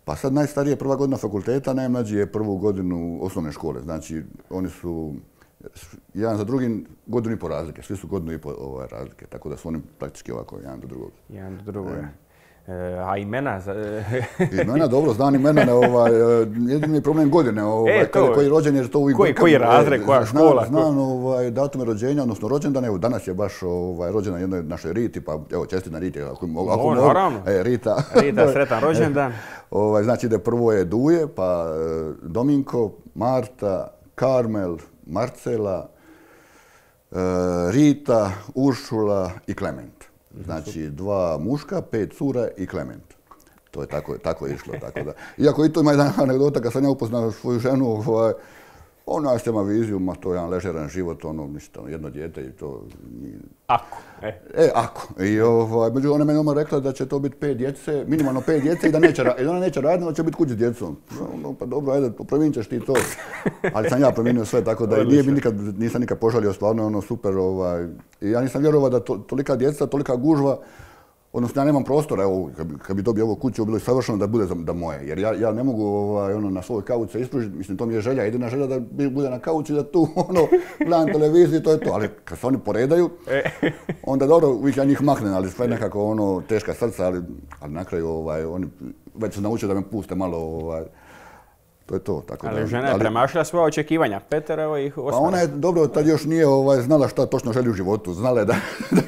S2: Pa sad najstariji je prva godina fakulteta, najmlađi je prvu godinu osnovne škole. Znači, oni su jedan za drugim godinu i po razlike. Svi su godinu i po razlike, tako da su oni praktički ovako jedan do drugog.
S3: Jedan do drugog. A imena?
S2: Imena, dobro, znam imena. Jedini je problem godine. Koji je rođen, jer to uvijek...
S3: Koji razred, koja škola?
S2: Znam datume rođenja, odnosno rođendan. Evo, danas je baš rođena jednoj našoj Riti, pa evo, čestitam Riti.
S3: Naravno.
S2: Rita.
S3: Rita, sretan rođendan.
S2: Znači da prvo je Duje, pa Dominko, Marta, Karmel, Marcela, Rita, Uršula i Klement. Znači 2 muška, 5 cura i Klement. To je tako išlo. Tako da. Iako i to ima jedna anegdota, kad sam ja upoznao svoju ženu, ona ima viziju, ma to je jedan ležeran život, ništa, jedno dijete i to...
S3: Ako.
S2: Ako. I među ona meni rekla da će to biti 5 djece, minimalno 5 djece i da ona neće raditi, da će biti kući s djecom. Pa dobro, ajde, promijenit ćeš ti to. Ali sam ja promijenio sve, tako da nisam nikad požalio, stvarno super. I ja nisam vjerovao da tolika djeca, tolika gužva, odnosno ja nemam prostora, evo, kad bi dobio ovu kuću, bilo je savršeno da bude da moje. Jer ja ne mogu na svoj kauč se ispružiti, mislim, to mi je želja, jedina želja da bude na kauču i da tu, gledam televiziju i to je to. Ali kad se oni poredaju, onda dobro, uvijek ja njih maknem, ali sve nekako teška srca, ali na kraju oni već su naučili da me puste malo, to je to. Tako
S3: ali žena je premašila svoja očekivanja, Peterovo ih ostala.
S2: Pa ona je, dobro, tad još nije znala šta točno želi u životu. Znala je da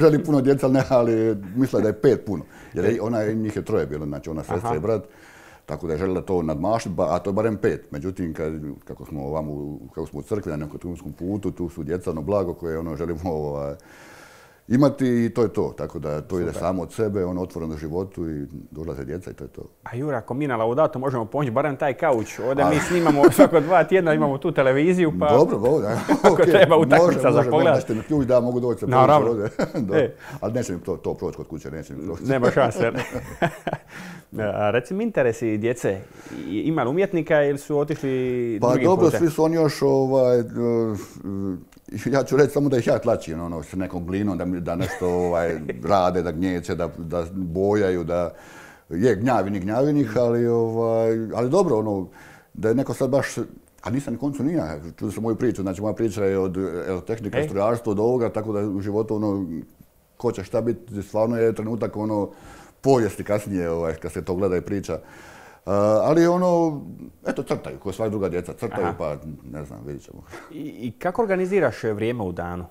S2: želi puno djeca, ali mislila da je 5 puno. Jer njih je 3 bilo, znači ona sestra i brat. Tako da je željela to nadmašiti, a to je barem 5. Međutim, kako smo u crkvi na nekom turskom putu, tu su djeca, blago koje želimo imati i to je to. Tako da to ide samo od sebe, otvoreno životu i dolaze djeca i to je to.
S3: A Jura, ako mi na Laudato možemo pomoći barem taj kauč, ovdje mi snimamo svako 2 tjedna, imamo tu televiziju, pa...
S2: Dobro,
S3: ako treba utakmica za pogled.
S2: Možete mi ključ da mogu doći se pomoći ovdje. Ali neće mi to proći kod kuće, neće mi proći.
S3: Nema šanse. Reci mi interesi djece, ima li umjetnika ili su otišli drugim putem?
S2: Pa dobro, svi su oni još ja ću reći samo da ih ja tlačim s nekom glinom, da nešto rade, da gnječe, da bojaju, da je gnjavinih, ali dobro, da je neko sad baš, a nisam na koncu nije, čuo sam moju priču, znači moja priča je od tehnike, strojarstva, od ovoga, tako da u životu ko će šta biti, stvarno je trenutak povijesti kasnije, kad se to gleda i priča. Ali eto, crtaju, kao sva druga djeca, crtaju, pa ne znam, vidit ćemo.
S3: I kako organiziraš vrijeme u danu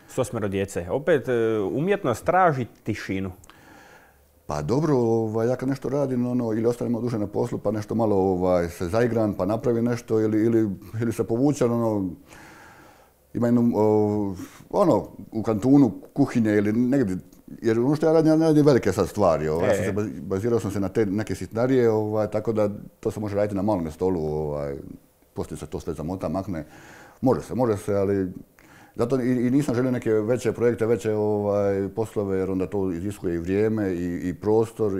S3: s 8 djece? Opet, umjetnost traži tišinu.
S2: Pa dobro, ja kad nešto radim, ili ostanem duže na poslu, pa nešto malo se zaigram, pa napravim nešto, ili se povučem, ima jednu, u kantunu, kuhinje ili negdje. Jer što ja radim velike sad stvari. Bazirao sam se na te neke sitnarije, tako da to se može raditi na malom stolu. Poslije se to sve zamota, makne. Može se, ali zato i nisam želio neke veće projekte, veće poslove, jer onda to iziskuje i vrijeme, i prostor,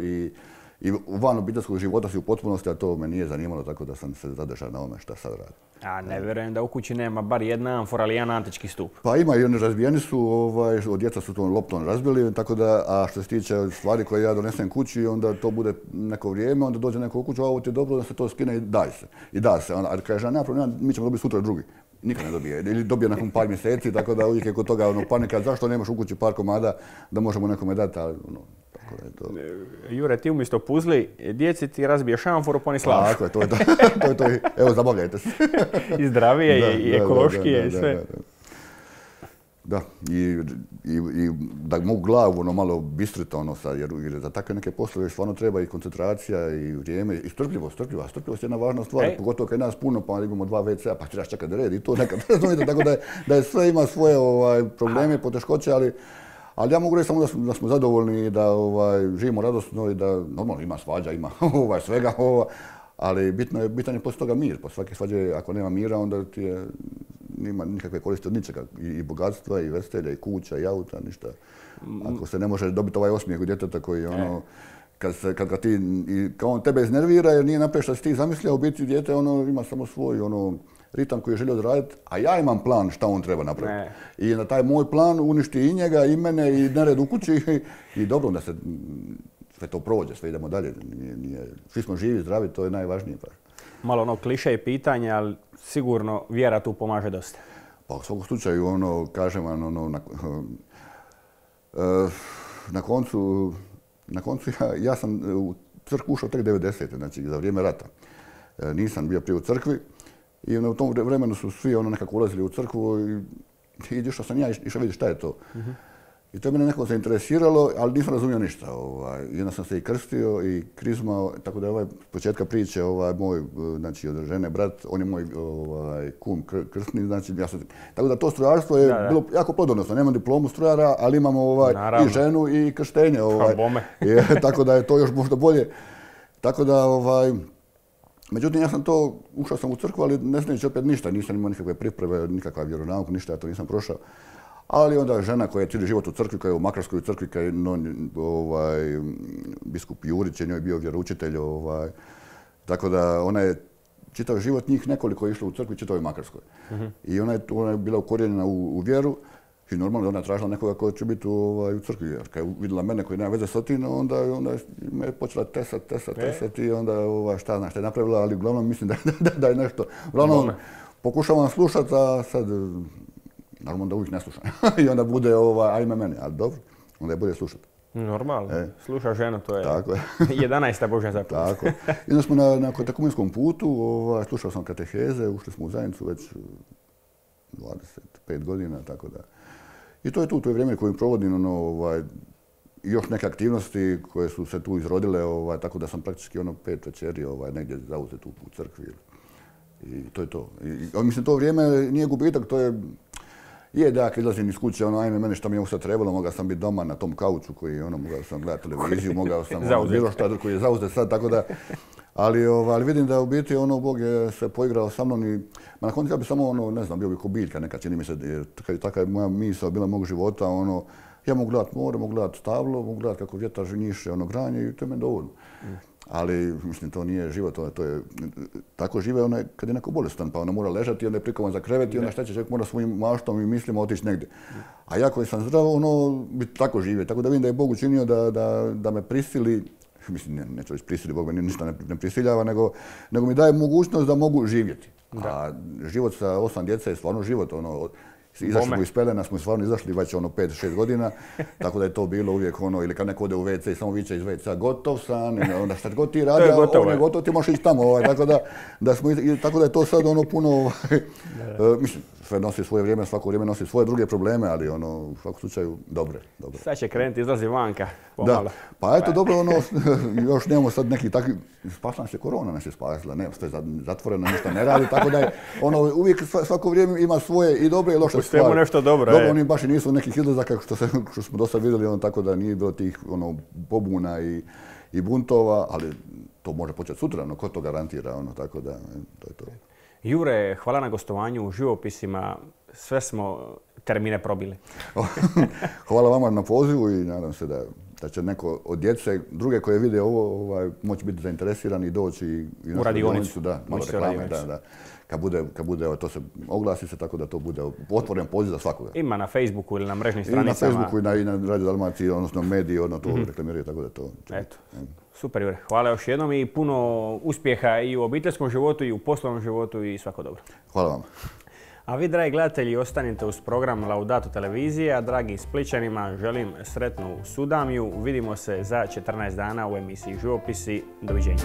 S2: i van obiteljskog života si u potpunosti, a to me nije zanimalo, tako da sam se zadržao na ovome šta sad radim.
S3: A ne vjerujem da u kući nema bar jedna amfora ili jedan antički stup.
S2: Pa ima i oni razbijeni su, djeca su tom loptom razbili, tako da, a što se tiče stvari koje ja donesem kući, onda to bude neko vrijeme, onda dođe neko u kuću, a ovo ti je dobro, da se to skine i daj se. I da se, a kaže, nema problema, mi ćemo dobiti sutra drugi. Nikad ne dobije, ili dobije nakon par mjeseci, tako da uvijek je kod toga panika, zašto nemaš u kući par komada da možemo nekome dati, ali tako da je to.
S3: Jure, ti umjesto puzli, djeci ti razbiješ amforu, pa oni slažu.
S2: Tako je, to je to. Evo, zabavljajte se.
S3: I zdravije, i ekološkije, i sve.
S2: Da, i da mogu glavu malo bistriti sad, jer za takve neke poslove stvarno treba i koncentracija i vrijeme i strpljivost. Strpljivost je jedna važna stvar, pogotovo kad je nas puno, pa imamo 2 WC-a, pa trebaš čekati red i to nekad. Tako da je sve ima svoje probleme, poteškoće, ali ja mogu reći samo da smo zadovoljni i da živimo radosno i da normalno ima svađa, ima svega, ali bitan je poslije toga mir. Po svake svađe, ako nema mira, onda ti je nema nikakve koristi od ničega. I bogatstva, i veselja, i kuća, i auta, ništa. Ako se ne može dobiti ovaj osmijeh u djeteta koji kad ga ti, kao on tebe iznervira jer nije napravio što si ti zamislio, u biti dijete ima samo svoj ritam koji je želio odraditi, a ja imam plan šta on treba napraviti. I na taj moj plan uništi i njega, i mene, i nered u kući i dobro, onda se sve to prođe, sve idemo dalje. Svi smo živi, zdravi, to je najvažnije.
S3: Malo kliše i pitanje, ali sigurno vjera tu pomaže dosta.
S2: Pa u svakom slučaju, kažem vam, na koncu ja sam u crkvu ušao tek 90. znači za vrijeme rata. Nisam bio prije u crkvi i u tom vremenu su svi nekako ulazili u crkvu i išao sam ja išao vidjeti šta je to. I to je mene nekako zainteresiralo, ali nisam razumio ništa. I onda sam se i krstio i krizmao, tako da je početka priče moj, znači od žene brat, on je moj kum krstni, znači tako da to strojarstvo je bilo jako plodonosno. Nemam diplomu strojara, ali imam i ženu i krštenje. Tako da je to još možda bolje. Tako da, međutim, ušao sam u crkvu, ali ne znajući opet ništa, nisam imao nikakve pripreme, nikakva vjeronauka, ništa, ja to nisam prošao. Ali onda žena koja je cijeli život u crkvi, koja je u Makarskoj crkvi, koja je biskup Jurić je njoj bio vjeroučitelj, tako da ona je čitav život njih nekoliko je išlo u crkvi, čitavoj Makarskoj. I ona je bila ukorijenjena u vjeru i normalno da ona tražila nekoga ko će biti u crkvi. Jer kad je vidjela mene koji nema veze s otim, onda me je počela tesati i onda šta je napravila, ali uglavnom mislim da je nešto. Uglavnom pokušavam slušati, a sad naravno da uvijek ne slušam. I onda bude ajme mene, ali dobro, onda je bolje slušati.
S3: Normalno, sluša ženu, to je
S2: tako je.
S3: 11. Božja zapovijed.
S2: Tako je. I onda smo na katekumanskom putu, slušao sam kateheze, ušli smo u zajednicu već 25 godina, tako da. I to je vrijeme koje provodim, još neke aktivnosti koje su se tu izrodile, tako da sam praktički 5 večeri negdje zauzet u crkvi. I to je to. I mislim, to vrijeme nije gubitak, to je da ja kad izlazim iz kuće, ajme mene što mi je sad trebalo, mogao sam biti doma na tom kauču koji mogao sam gledati televiziju, mogao sam bilo šta koji je zauzet sad, tako da. Ali vidim da u biti Bog je se poigrao sa mnom i na koncu ja bi samo ne znam, bio bi ko biljka neka, čini mi se, kad je taka moja misao bila mog života, ja mogu gledati more, mogu gledati stablo, mogu gledati kako vjetar njiše granje i to je meni dovoljno. Ali, mislim, to nije život, to je, tako žive kad je neko bolestan, pa mora ležati i onda je prikovan za krevet i onda šta će čovjek mora svojim maštom i mislima otići negdje. A ja koji sam zdrav, bi tako živio, tako da vidim da je Bog učinio da me prisili, mislim, neću reći prisili, Bog me ništa ne prisiljava, nego mi daje mogućnost da mogu živjeti. A život sa 8 djece je stvarno život, izašli smo iz pelena, smo stvarno izašli već 5-6 godina, tako da je to bilo uvijek ili kad neko ode u WC i samo viče iz WC-a gotov sam, onda šta god ti radi, on je gotov, ti možeš ići tamo, tako da je to sad puno, mislim, sve nosi svoje vrijeme, svako vrijeme nosi svoje druge probleme, ali u svakom slučaju dobre.
S3: Sad će krenuti, izlazi vanka, pomalo.
S2: Da, pa eto dobro, još nemamo sad neki takvi, spasla nas je korona, nas je spasila, ne, sve zatvoreno, ništa ne radi, tako da je uvijek svako vrijeme ima svoje i dobre i loše stvari.
S3: Pustimo nešto dobro,
S2: Dobro, oni baš i nisu nekih izlazaka što smo dosta vidjeli, tako da nije bilo tih pobuna i buntova, ali to može početi sutra, ko to garantira, tako da to je to.
S3: Jure, hvala na gostovanju u živopisima, sve smo termine probili.
S2: Hvala vama na pozivu i nadam se da da će neko od djece, druge koje vide ovo, moći biti zainteresirani i doći i
S3: u radionicu.
S2: Da, malo reklame, da. Kad bude, to se oglasi se tako da to bude otvoren poziv za svakoga.
S3: Ima na Facebooku ili na mrežnim stranicama.
S2: I na Facebooku i na Radio Dalmaciji, odnosno mediji, to reklamiraju, tako da to...
S3: Eto. Super, Jure. Hvala još jednom i puno uspjeha i u obiteljskom životu i u poslovnom životu i svako dobro.
S2: Hvala vam.
S3: A vi, dragi gledatelji, ostanite uz program Laudato televizije, a dragim Splićanima želim sretnu Sudamiju. Vidimo se za 14 dana u emisiji Živopisi. Doviđenja.